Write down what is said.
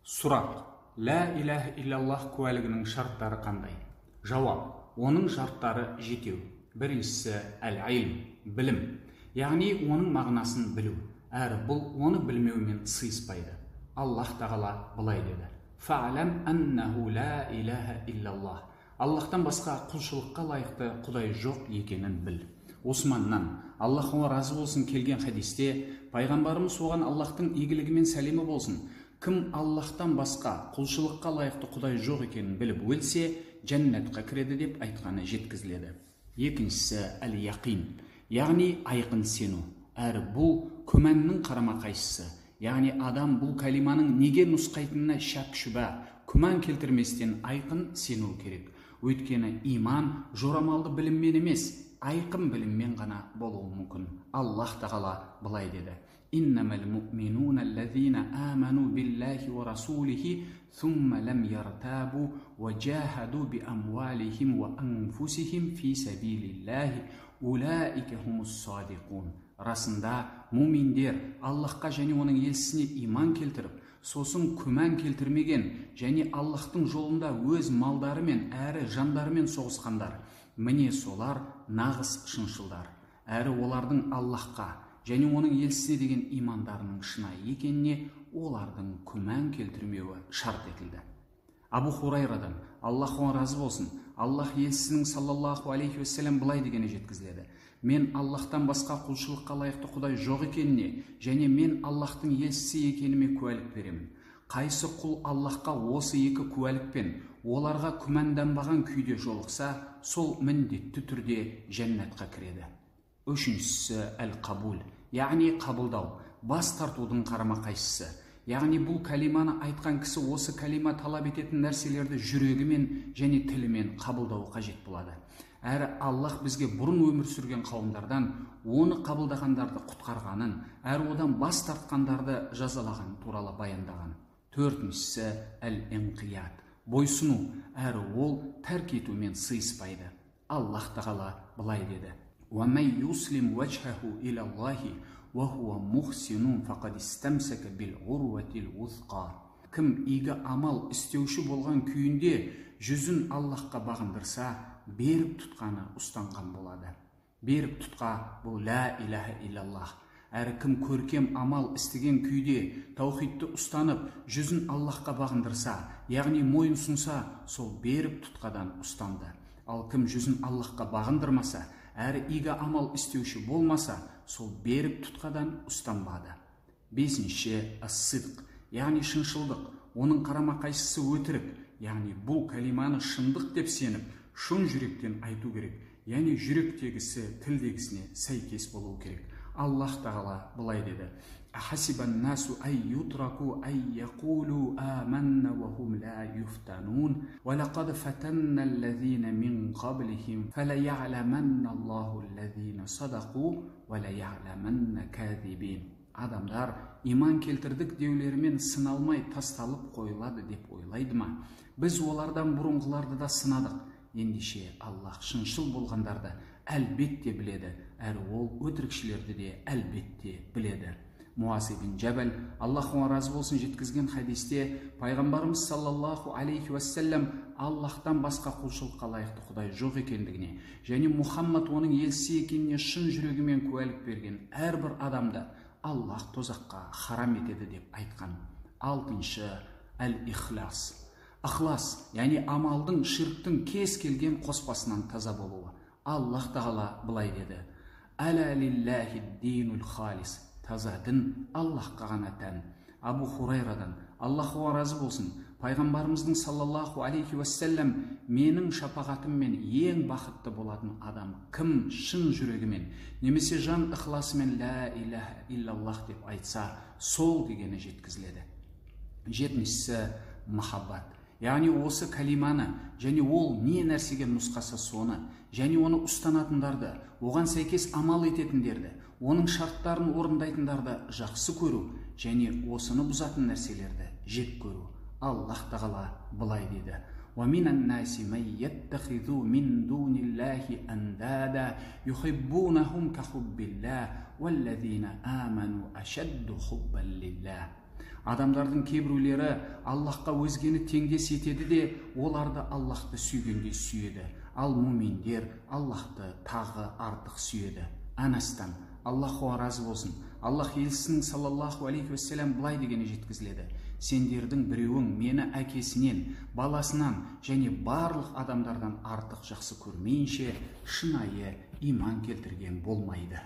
Сұрақ: Ла иляха иллаллах куәлігінің шарттары қандай? Жауап: оның шарттары жетеу. Біріншісі әл-илм, білім, яғни оның мағынасын білу. Әрі бұл оны білмеумен сыйыспайды. Аллах тағала былай деді: Фа'лам аннаху ла иляха иллаллах. Аллахтан басқа құлшылыққа лайықты құдай жоқ екенін біл. Османнан, Аллахқа разы болсын, келген хадисте пайғамбарымыз оған Аллахтың игілігімен сәлемі болсын: кім Аллахтан басқа құлшылыққа лайықты құдай жоқ екенін біліп өлсе, жәннатқа кіреді деп айтқаны жеткізіледі. Екіншісі әл-яқин, яғни айқын сену. Әрі бұл күмәннің қарама-қайшысы. Яғни адам бұл калиманың неге нұсқайтынына шәк шүбә, күмән келтірместен айқын сену керек. Өйткені иман жорамалды біліммен емес, айқын біліммен ғана болуы мүмкін. Аллах тағала былай деді: Иннамал муъминуна аллазина аману биллахи ва расулихи thumma lam yartabu wa jahadu bi amwalihim wa anfusihim fi sabilillahi ulaika хумус садиқун. Расында муминдер Аллахқа және оның елшісіне иман келтіріп, сосын күмән келтірмеген және Аллахтың жолында өз малдарымен әрі жандарымен соғысқандар, міне солар нағыз шыншылдар. Әрі олардың Аллахқа және оның елшісіне деген имандарының шынайы екеніне олардың күмән келтірмеуі шарт етілді. Абу Хурайрадан, Аллахқа разы болсын, Аллах елшісінің саллаллаху алейхи уассалам былай дегені жеткізіледі: мен Аллахтан басқа құлшылыққа лайықты құдай жоқ екеніне және мен Аллахтың елшісі екеніме куәлік беремін. Қайсы құл Аллахқа осы екі куәлікпен оларға күмәнданбаған күйде жолықса, сол міндетті түрде жәннатқа кіреді. Үшіншісі әл-қабул, яғни қабылдау, бас тартудың қарама-қайшысы. Яғни бұл калиманы айтқан кісі осы калима талап ететін нәрселерді жүрегімен және тілімен қабылдауы қажет болады. Әрі Аллах бізге бұрын өмір сүрген қауымдардан оны қабылдағандарды құтқарғанын, әрі одан бас тартқандарды жазалаған туралы баяндаған. Төртіншісі әл-инқият, бойсыну, әрі ол тәрк етумен сыйыспайды. Аллах тағала былай деді: وَمَنْ يُسْلِمْ وَجْهَهُ إِلَى اللَّهِ وَهُوَ مُحْسِنٌ فَقَدِ اسْتَمْسَكَ بِالْعُرْوَةِ الْوُثْقَى. Кім игі амал істеуші болған күйінде жүзін Аллахқа бағындырса, берік тұтқаны ұстанған болады. Берік тұтқа бұл ла иляха иллаллах. Әрі кім көркем амал істеген күйде таухидты ұстанып, жүзін Аллахқа бағындырса, яғни мойын сұнса, сол берік тұтқадан ұстанды. Ал кім жүзін Аллахқа бағындырмаса, әрі игі амал істеуші болмаса, сол берік тұтқадан ұстанбады. Бесінші ас-сидқ, яғни шыншылдық. Оның қарама-қайшысы өтірік, яғни бұл калиманы шындық деп сеніп, шын жүректен айту керек, яғни жүректегісі тілдегісіне сәйкес болу керек. Аллах тағала былай деді: Ахасибан насу ай ютраку ай яқулу аманна ва хум ла юфтанун ва лақад фатанна аллазина мин қаблихим фала я'ламанна Аллаху аллазина садақу ва ла я'ламанна кәзибин. Адамдар иман келтірдік деулерімен сыналмай тасталып қойылады деп ойлайды ма? Біз олардан бұрынғыларды да сынадық. Ендеше Аллах шыншыл болғандарды әлбетте біледі, әрі ол өтірікшілерді де әлбетте біледі. Муаз ибн Джабал, Аллахқа разы болсын, жеткізген хадисте пайғамбарымыз саллаллаху алейхи уассалам Аллахтан басқа құлшылыққа лайықты құдай жоқ екендігіне және Мұхаммад оның елшісі екеніне шын жүрегімен куәлік берген әрбір адамды Аллах тозаққа харам етеді деп айтқан. Алтыншы әл-ихлас. Ықлас, яғни амалдың ширктің кез келген қоспасынан таза болуы. Аллах тағала былай деді: Әла лиллахи динул халис. Таза дін Аллахқа ғана тән. Абу Хурайрадан, Аллахқа разы болсын, пайғамбарымыздың саллаллаху алейхи уассалам: менің шапағатыммен ең бақытты болатын адам кім шын жүрегімен немесе жан ықласымен ла иляха иллаллах деп айтса, сол дегені жеткізіледі. Жетіншісі махаббат, яғни осы калиманы және ол не нәрсеге нұсқаса соны және оны ұстанатындарды, оған сәйкес амал ететіндерді, оның шарттарын орындайтындарды жақсы көру және осыны бұзатын нәрселерді жек көру. Аллах тағала былай деді: وَمِنَ النَّاسِ مَنْ يَتَّخِذُ مِنْ دُونِ اللَّهِ أَنْدَادًا يُحِبُّونَهُمْ كَحُبِّ اللَّهِ وَالَّذِينَ آمَنُوا أَشَدُّ حُبًّا لِلَّهِ. Адамдардың кейбіреулері Аллахқа өзгені теңдес етеді де, оларды Аллахты сүйгендей сүйеді. Ал муминдер Аллахты тағы артық сүйеді. Анастан, Аллаху разы болсын, Аллах елшісінің саллаллаху алейхи уассалам былай дегені жеткізіледі: сендердің біреуің мені әкесінен, баласынан және барлық адамдардан артық жақсы көрмейінше шынайы иман келтірген болмайды.